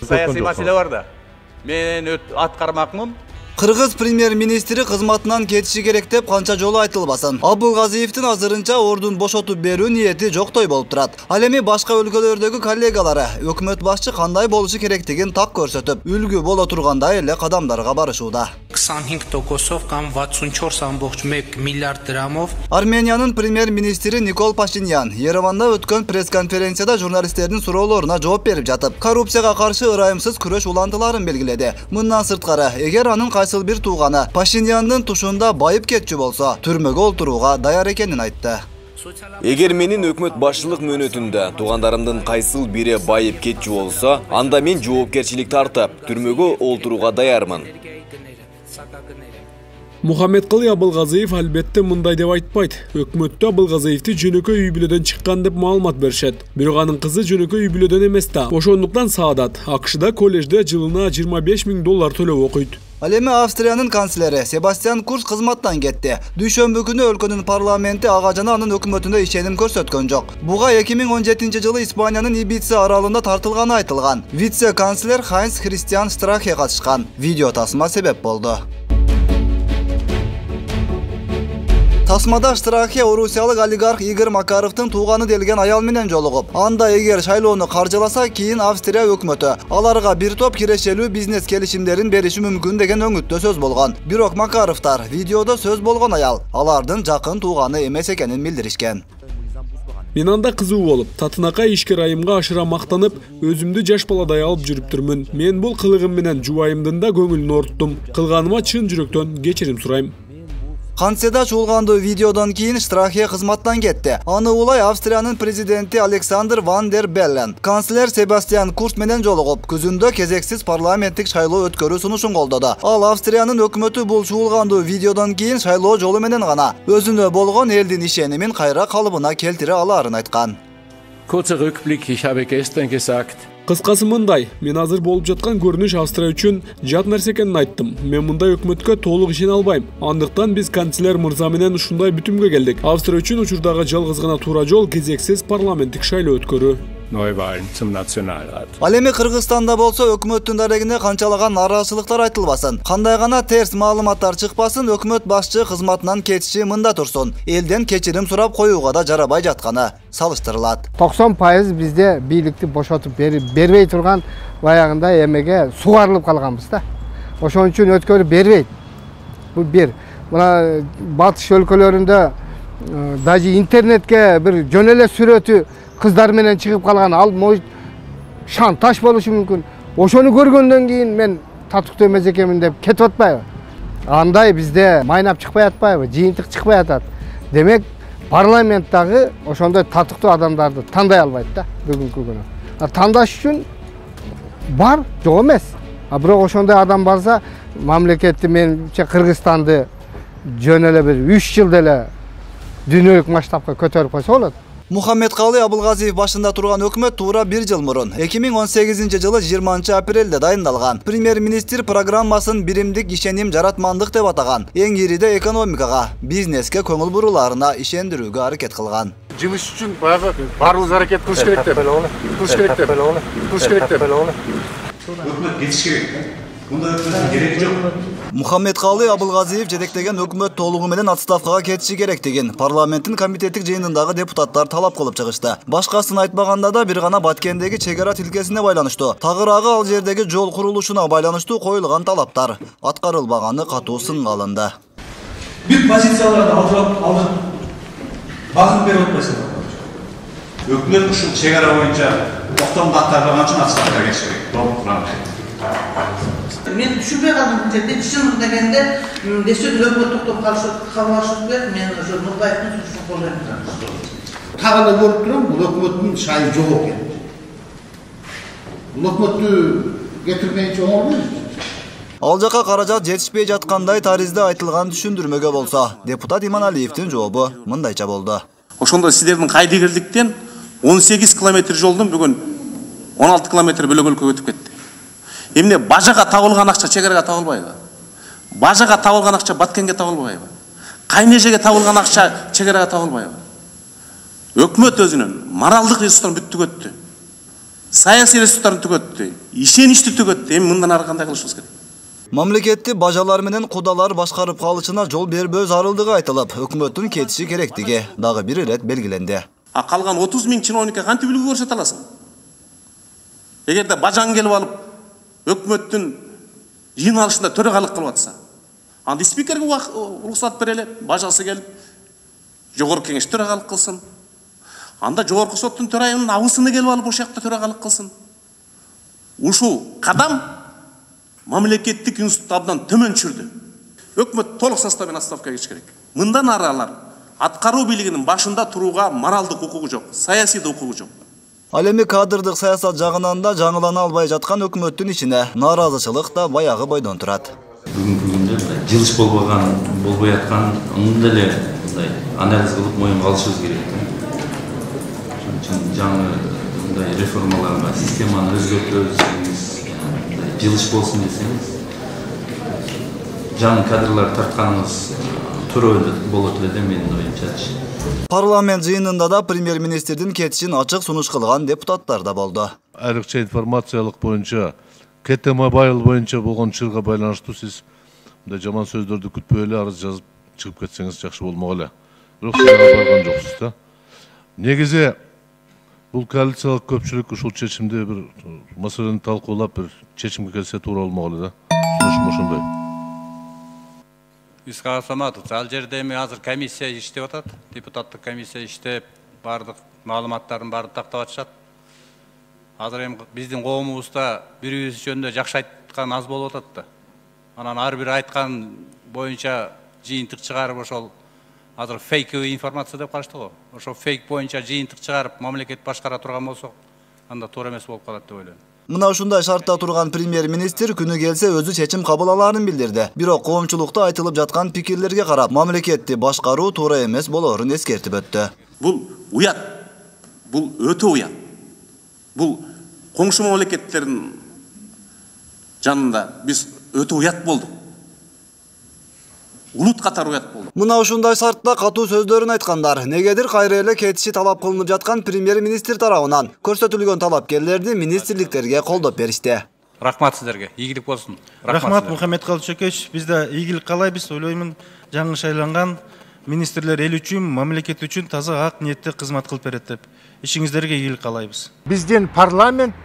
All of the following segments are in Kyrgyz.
саясий маселе бар да. Мен аткармакмын. Кыргыз премьер-министри кызматынан кетиши керек деп канча жолу айтылбасын. Абылгазиевдин азырынча ордун бошотуп берүү ниети жоктой болуп турат. Ал эми башка өлкөлөрдөгү коллегалары өкмөт башчы кандай болушу керектигин так көрсөтүп, үлгү боло тургандай эле кадамдарга барышууда. 25%-ով կամ 64.1 миллиард драмов. Армениянын премьер-министри Никол Пашинян Ереванда өткөн пресс-конференцияда журналисттердин суроолоруна жооп берип жатып, коррупцияга каршы ырайымсыз күрөш улантыларын белгиледи. Мындан сырткары, эгер анын кайсыл бир тууганы Пашинянын тушунда байып кетчү болсо, түрмөгө олтурууга даяр экенин айтты. Эгер менин өкмөт башчылык мөөнөтүндө туугандарымдын кайсыл бири байып кетчү болсо, анда мен жоопкерчилик тартып, түрмөгө олтурууга даярмын. Мухаммедкалый Абылгазиев албетте мындай деп айтпайт. Өкмөттө Абылгазиевди жөнөкөй үй бүлөдөн чыккан деп маалымат беришет. Бирок анын кызы жөнөкөй үй бүлөдөн эмес да. Ошондуктан Саадат АКШда коллежде жылына $25.000 төлөп окуйт. Ал эми Австриянын канцлери Себастьян Курц кызматтан кетти. Дүйшөмбү күнү өлкөнүн парламенти ага жана анын өкмөтүнө ишеним көрсөткөн жок. Буга 2017-жылы Испаниянын Ибица аралында тартылганы айтылган. Вице-канцлер Хайнс Христиан Страхе катышкан. Видео тасма себеп болду. Тасмада Страхе орусиялык олигарх Игорь Макаровдун тууганы делген аял менен жолугуп, анда эгер шайлоону каржыласа, кийин Австрия өкмөтү аларга бир топ кирешелүү бизнес келишимдерин бериши мүмкүн деген өңүттө сөз болгон. Бирок Макаровдор видеодо сөз болгон аял алардын жакын тууганы эмес экенин билдиришкен. Мен анда кызуу болуп, татынакай ишкер айымга ашыра мактанып, өзүмдү жаш баладай алып жүрүптүрмүн. Мен бул кылыгым менен жубайымдын да көңүлүн ооруттум. Кылганыма чын жүрөктөн кечирим сурайм. Канцияда чуулгандуу видеодон кийин Страхе кызматтан кетти. Аны улай Австриянын президенти Александр Ван дер Беллен канцлер Себастьян Курц менен жолугуп, күзүндө кезексиз парламенттик шайлоо өткөрүү сунушун колдоду. Ал Австриянын өкмөтү бул чуулгандуу видеодон кийин шайлоо жолу менен гана өзүнө болгон элдин ишенимин кайра калыбына келтире аларын айткан. Kurzer Rückblick, ich habe gestern gesagt, Кыскасы мындай, мен азыр болуп жаткан көрүнүш Австрия үчүн жат нерсе экенин айттым. Мен мындай өкмөткө толук ишене албайм. Андыктан биз канцлер мырза менен ушундай бүтүмгө келдик. Австрия үчүн учурдагы жалгыз гана туура жол кезексиз парламенттик шайлоо өткөрүү. Neuwahlen zum Nationalrat. Ал эми Кыргызстанда болсо өкмөттүн дарегине канчалаган нараачылыктар айтылбасын, кандай гана терс маалыматтар чыкпасын, өкмөт башчы кызматынан кетиши мында турсун. Элден кечирим сурап коюуга да жарабай жатканы салыштырылат. 90% бизде бийликти бошотуп бербей турган баягында эмеге сугарылып калганбыз да. Ошон үчүн өткөрүп бербейт. Бул бир. Мына батыш өлкөлөрүндө даже интернетке бир жөн эле сүрөтү кыздар менен чыгып калган, ал шантаж болушу мүмкүн. Ошону көргөндөн кийин мен татыктуу эмес экенмин деп кетип атпайбы? Андай бизде майнап чыкпай атпайбы? Жыйынтык чыкпай атат. Демек, парламенттагы ошондой татыктуу адамдарды тандай албайт да бүгүнкү күнү. Тандаш үчүн бар, жок эмес. Бирок ошондой адам барса, мамлекетти менимче Кыргызстанды жөн эле бир 3 жылда эле дүйнөлүк масштабка көтөрүп койсо болот. Мухаммедкалый Абылгазиев башында турган өкмөт туура 1 жыл мурун 2018-жылы 20-апрелде дайындалган премьер-министр программасын биримдик ишеним жаратмандык деп атаган. Эң ириде экономикага, бизнеске көңүл буруларына ишендирүүгө аракет кылган. Жумуш үчүн баягы баарыбыз аракет кылыш керек деп. Өкмөт кетиш керек. Мындай өкмөттүн кереги жок. Мухаммедкалый Абылгазиев жетектеген өкмөт толугу менен отставкага кетиши керектигин парламенттин комитеттик жыйынындагы депутаттар талап кылып чыгышты. Башкасын айтпаганда да бир гана Баткендеги чек ара тилкесине байланыштуу, тагыраагы ал жердеги жол курулушуна байланыштуу коюлган талаптар аткарылбаганы катуу сынга алынды. Бүт позицияларды алдык багып берип атпайсыңар. Өкмөт ушул чек ара боюнча токтомду аткарбаган үчүн отставкага кетиш керек. Мен түшүнбөй калдым бул жерде, чын дегенде десөк өкмөт токтоп калышы керек, мен ошо Нурбаевдин сунушун колдойм. Так эле көрүп турам, бул өкмөттүн шайы жок экен. Бул өкмөттү кетирмейинче оңолбойбу? Ал жака каражат жетишпей жаткандай таризде айтылган түшүндүрмөгө болсо, депутат Иманалиевдин жообу мындайча болду. Ошондо сиздердин Кайдыгерликтен 18 километр жолдон бүгүн 16 километр бөлөгөлкө өтүп кетти. Эмне бажага табылган акча чек-арага табылбайбы? Бажага табылган акча Баткенге табылбайбы? Кайнежеге табылган акча чек-арага табылбайбы? Өкмөт өзүнүн моралдык ресурстарын бүттүк өттү. саясий ресурстарын түгөттү, ишеничти түгөттү. Эми мындан ары кандай кылышыбыз керек? Мамлекетти бажалар менен кудалар башкарып калышына жол бербөө зарылдыгы айтылып, өкмөттүн кетиши керектиги дагы бир ирет белгиленди. Калган 30 000 чиновникке кантип үлгү көрсөтө аласың? Эгерде бажаң келип алып, өкмөттүн жыйналышында төрагалык кылып атса, анда спикерге уруксат берели, бажасы келип, жогорку кеңеш төрагалык кылсын. Анда жогорку соттун төрайымынын абысыны келип алып, ошол жакта төрагалык кылсын. Ушул кадам мамлекеттик институтты абдан төмөн түшүрдү. Өкмөт толук составын отставкага кетиш керек. Мындан ары алар аткаруу бийлигинин башында турууга моралдык укугу жок, саясий да укугу жок. Ал эми кадрдык саясат жагынан да жаңылана албай жаткан өкмөттүн ичине нааразычылык да баягы бойдон турат. Бүгүнкү күндө жылыш болбой аткан мындай эле анализ кылып моюнга алышыбыз керек. Ошон үчүн жаңы мындай реформаларга, системаны өзгөртөбүз десеңиз, жылыш болсун десеңиз, жаңы кадрлар тартканыбыз туура болот эле деп менин оюмчачы. Парламент жыйынында да премьер-министрдин кетишин ачык сунуш кылган депутаттар да болду. Айрыкча информациялык боюнча, КТ-Мобайл боюнча болгон чырга байланыштуу сиз мындай жаман сөздөрдү күтпөй эле арыз жазып чыгып кетсеңиз жакшы болмок эле. Бирок сиз барган жоксуз да. Негизи бул коалициялык көпчүлүк ушул чечимди бир маселени талкуулап бир чечимге келсе туура болмок эле да. Сунушум ошондой. Исхак Саматович, ал жерде эми азыр комиссия иштеп атат, депутаттык комиссия иштеп, бардык маалыматтарын баарын тактап атышат. Азыр эми биздин коомубузда бири-бирибиз жөнүндө жакшы айткан аз болуп атат да. Анан ар бир айткан боюнча жыйынтык чыгарып ошол азыр фейковый информация деп калышты го. Ошол фейк боюнча жыйынтык чыгарып мамлекет башкара турган болсок, анда туура эмес болуп калат деп ойлойм. Мына ушундай шартта турган премьер-министр күнү келсе өзү чечим кабыл алаарын билдирди. Бирок коомчулукта айтылып жаткан пикирлерге карап, мамлекетти башкаруу туура эмес болоорун эскертип өттү. Бул уят. Бул өтө уят. Бул коңшу мамлекеттердин жанында биз өтө уят болдук. Улут катары уят болду. Мына ушундай шартта катуу сөздөрүн айткандар. Негедир кайра эле кетиши талап кылынып жаткан премьер-министр тарабынан көрсөтүлгөн талапкерлерди министрликтерге колдоп беришти. Рахмат сиздерге. Ийгилик болсун. Рахмат Мухаммед Калчекевич. Биз да ийгилик каалайбыз. Ойлоймун, жаңы шайланган министрлер эл үчүн, мамлекет үчүн таза ак ниетте кызмат кылып берет деп. Ишиңиздерге ийгилик каалайбыз. Биздин парламент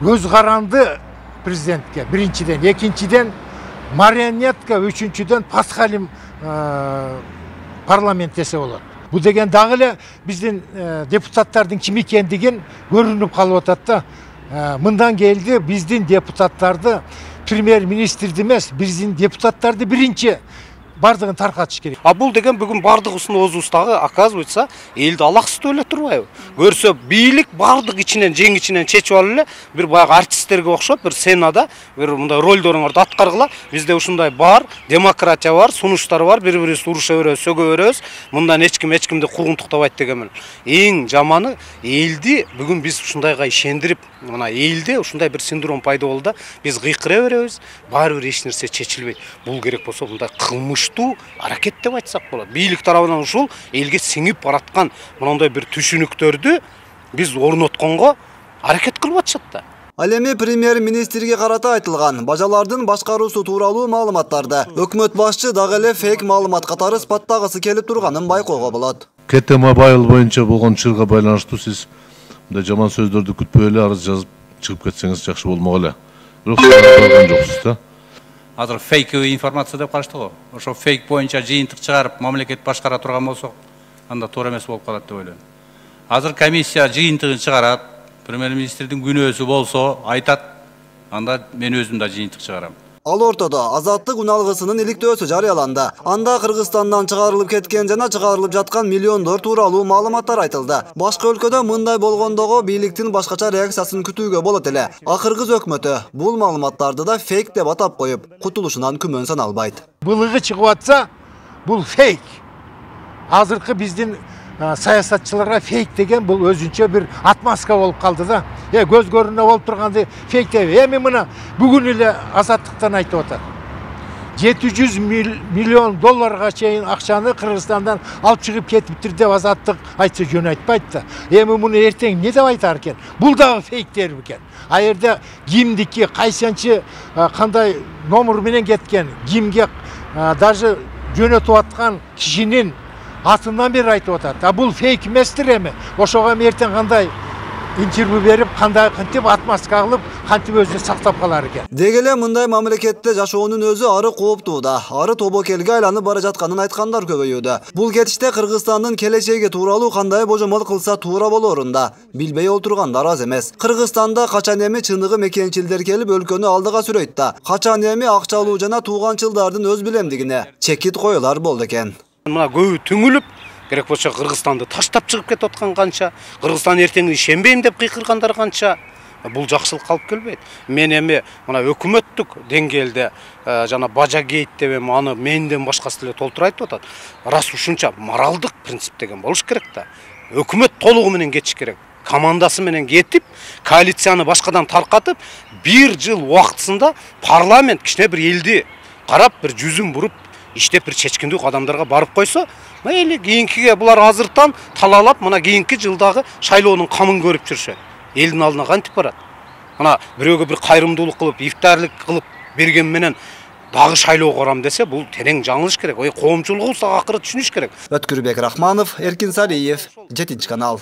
көз каранды президентке, биринчиден, экинчиден марионетка, үчүнчүдөн пасхалим парламент десе болот. Бул деген дагы эле биздин депутаттардын ким экендигин көрүнүп калып атат да. Мындан келди биздин депутаттарды премьер-министрди эмес, биздин депутаттарды биринчи бардыгын таркатыш керек. А бул деген бүгүн бардыгыбыздагы оказывается элди алаксытып эле турбайбы? Көрсө бийлик бардык ичинен жең ичинен чечип алып эле бир баягы артисттерге окшоп бир сценада бир мындай ролдоруңарды аткаргыла. Бизде ушундай бар, демократия бар, сунуштар бар, бири-бирибизди уруша беребиз, сөгө беребиз. Мындан эчкимди куугунтуктабайт дегенмен. Эң жаманы элди бүгүн биз ушундайга ишендирип, мына элде ушундай бир синдром пайда болду да, биз кыйкыра беребиз, баары бир эч нерсе чечилбейт. Бул керек болсо мындай кылмыш аракет деп айтсак болот. Бийлик тарабынан ушул элге сиңип бараткан мындай бир түшүнүктөрдү биз орнотконго аракет кылып атышат да. Ал эми премьер-министрге карата айтылган бажалардын башкаруусу тууралуу маалыматтарды өкмөт башчы дагы эле фейк маалымат катары испаттагысы келип турганын байкоого болот. КТ-Мобайл боюнча болгон чырга байланыштуу сиз мындай жаман сөздөрдү күтпөй эле арыз жазып чыгып кетсеңиз жакшы болмок эле. Бирок сиз барган жоксуз да. Азыр фейковый информация деп калышты го. Ошо фейк боюнча жыйынтык чыгарып мамлекет башкара турган болсок, анда туура эмес болуп калат деп ойлойм. Азыр комиссия жыйынтыгын чыгарат, премьер-министрдин күнөөсү болсо айтат, анда мен өзүм да жыйынтык чыгарам. Ал ортодо азаттык уналгысынын иликтөөсү жарыяланды. Анда Кыргызстандан чыгарылып кеткен жана чыгарылып жаткан миллиондор тууралуу маалыматтар айтылды. Башка өлкөдө мындай болгондого бийликтин башкача реакциясын күтүүгө болот эле. А Кыргыз өкмөтү бул маалыматтарды да фейк деп атап коюп, кутулушунан күмөн саналбайт. Былыгы чыгып атса, бул фейк. Азыркы биздин саясатчыларга фейк деген бул өзүнчө бир отмазка болуп калды да. Көз көрүнө болуп турганды фейк деп. Эми мына бүгүн эле азаттыктан айтып атат. 700 миллион долларга чейин акчаны Кыргызстандан алып чыгып кетиптир деп азаттык айтса жөн айтпайт да. Эми муну эртең эмне деп айтар экен? Бул дагы фейктер бекен. А жерде кимдики, кайсынчы кандай номер менен кеткен, кимге даже жөнөтүп аткан кишинин атынан бери айтып атат. А бул фейк эместир эми. Ошого эртең кандай интервью берип, кандай кантип отмазка кылып, кантип өзүн сактап калар экен. Деги эле мындай мамлекетте жашоонун өзү ары кооптуу да, ары тобокелге айланып бара жатканын айткандар көбөйүүдө. Бул кетиште Кыргызстандын келечеги тууралуу кандай божомол кылса туура болорун да билбей отургандар аз эмес. Кыргызстанда качан эми чыныгы мекенчилдер келип өлкөнү алдыга сүрөйт да, качан эми акчалуу жана тууганчылдардын өз билемдигине чекит коюлар болду экен. Мына көбү түңүлүп, керек болсо Кыргызстанды таштап чыгып кетип аткан канча, Кыргызстан эртеңин ишенбейм деп кыйкыргандар канча. Бул жакшылыкка алып келбейт. Мен эми мына өкмөттүк деңгээлде жана бажа гейт деп эми аны менден башкасы деле толтура айтып атат. Рас ушунча моралдык принцип деген болуш керек да. Өкмөт толугу менен кетиш керек. Командасы менен кетип, коалицияны башкадан таркатып, 1 жыл убактысында парламент кичине бир элди карап, бир жүзүн буруп, иштеп бир чечкиндүү кадамдарга барып койсо, мейли кийинкиге булар азыртан талаалап, мына кийинки жылдагы шайлоонун камын көрүп жүрүшөт. Элдин алдына кантип барат? Мына бирөөгө бир кайрымдуулук кылып, ифтарлык кылып берген менен дагы шайлоо корам десе, бул терең жаңылыш керек. Коомчулугубуз акыры түшүнүш керек. Өткүрбек Рахманов, Эркин Салиев, 7 канал.